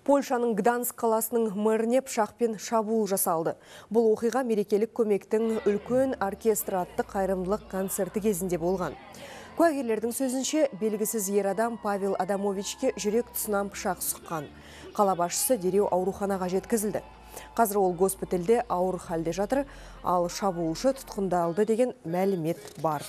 Польшаның Гданьск қаласының мэріне пышақпен шабуыл жасалды. Бұл оқиға мерекелік көмектің үлкен оркестр атты қайырымдылық концерті кезінде болған. Куәгерлердің сөзінше, белгісіз ер адам Павел Адамовичке жүрек тұсынан пышақ сұққан. Қала басшысы дереу ауруханаға жеткізілді. Қазір ол госпитальде ауыр халде жатыр, ал шабуылшы тұтқындалды деген мәлімет бар.